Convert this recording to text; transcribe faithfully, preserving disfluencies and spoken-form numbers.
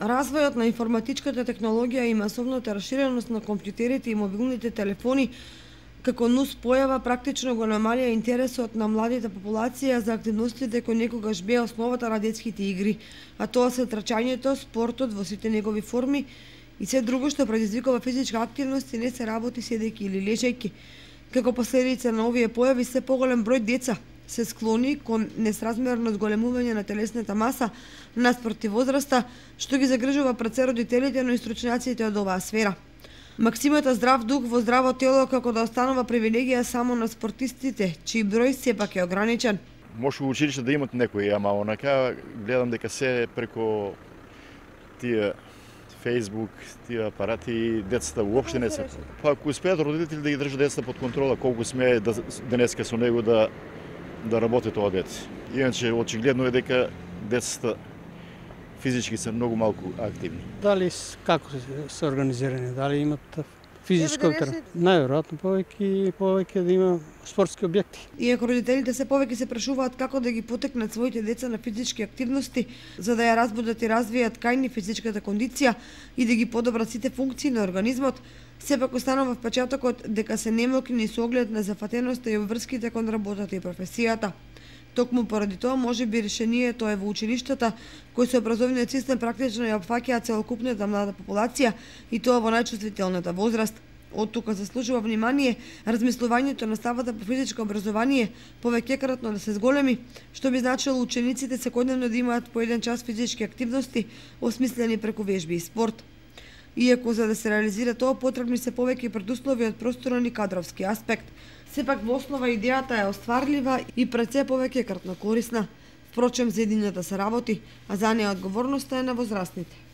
Развојот на информатичката технологија и масовната раширеност на компјутерите и мобилните телефони како нус појава практично го намалија интересот на младите популација за активностите кои некогаш беа основата на детските игри, а тоа се трчањето, спортот во сите негови форми и се друго што предизвикува физичка активност и не се работи седејќи или лежејќи. Како последица на овие појави, се поголем број деца се склони кон несразмерно зголемување на телесната маса наспроти возраста, што ги загрижува пред се родителите, но и стручњаците од оваа сфера. Максимата здрав дух во здраво тело како да останува привилегија само на спортистите, чиј број сепак е ограничен. Може во училиште да имат некои, ама онака гледам дека се преко тие Facebook, тие апарати, децата уопште не се. Па ако успеат родители да ги држат децата под контрола, колку смее да денеска со него да да работи тоа дете. Иначе очигледно е дека децата физички се многу малку активни. Дали како се организирани, дали имат физичко тренирање? Најверојатно повеќе повеќе да има спортски објекти. Иако родителите се повеќе се прашуваат како да ги потекнат своите деца на физички активности, за да ја разбудат и развијат кајни физичката кондиција и да ги подобрат сите функции на организмот, сепак останува впечатокот дека се немокни со оглед на зафатеноста и обврските кон работата и професијата. Токму поради тоа може би решението е во училиштата, кои со образовниот систем практично ја опфаќаат целокупната млада популација и тоа во најчувствителната возраст. Од тука заслужува внимание размислувањето на ставата по физичко образование повеќекратно да се зголеми, што би значило учениците секојдневно да имаат по еден час физички активности, осмислени преку вежби и спорт. Иако за да се реализира тоа потребни се повеќе предуслови од просторен и кадровски аспект. Сепак во основа идејата е остварлива и пред се повеќекратно корисна. Впрочем, за едината се работи, а за неја одговорноста е на возрастните.